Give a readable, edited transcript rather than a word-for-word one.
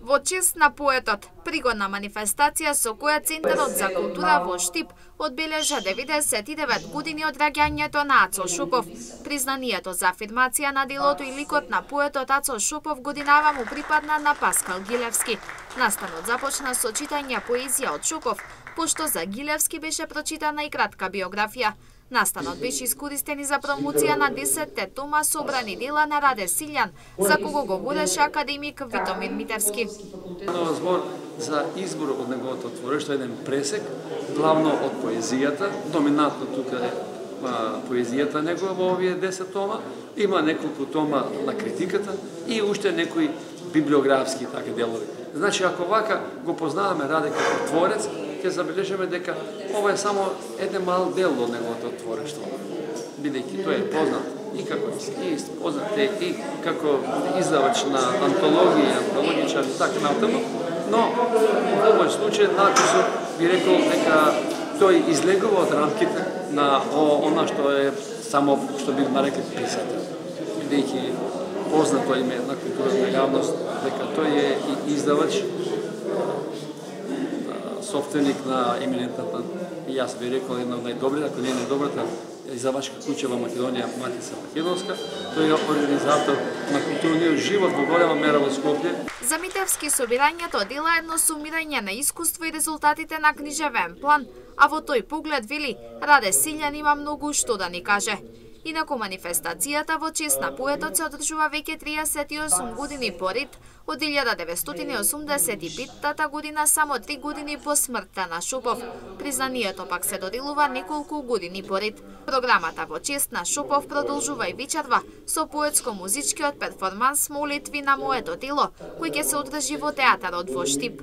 Во чест на поетот, пригодна манифестација со која Центарот за култура во Штип одбележа 99 години од раѓањето на Ацо Шопов. Признанието за афирмација на делото и ликот на поетот Ацо Шопов годинава му припадна на Паскал Гилевски. Настанот започна со читање поезија од Шопов, пошто за Гилевски беше прочитана и кратка биографија. Настанот беше искористен и за промоција на 10-те тома собрани дела на Раде Силјан, за кого го водеше академик Витомир Митевски. Станува збор за избор од неговото творештво, еден пресек, главно од поезијата, доминантно тука е поезијата негова во овие 10 тома, има неколку тома на критиката и уште некои библиографски така делови. Значи, ако вака го познаваме Раде како творец, ќе забележиме дека ова е само еден мал дел од неговото творештво, бидејќи тој е познат и како познат и како издавач на антологичар и така натаму, но во овој случај накусо би рекол дека тој излегува од рамките на она што е само што би нарекли писател, бидејќи познато име на културната јавност дека тој е и издавач, собственик на еминентната, и јас би рекол една од најдобрите, ако не е најдобрата издавачка куќа во Македонија, Матица Македонска. Тој е организатор на културниот живот во голема мера во Скопје. За Митевски собирањето дела едно сумирање на искуство и резултатите на книжевен план, а во тој поглед вели Раде Силјан има многу што да ни каже. Инаку манифестацијата во чест на поетот се одржува веќе 38 години поред, од 1985 година, само 3 години по смртта на Шопов. Признанието пак се доделува неколку години поред. Програмата во чест на Шопов продолжува и вечерва со поетско-музичкиот перформанс Молитви на моето тело, кој ќе се одржи во театарот во Штип.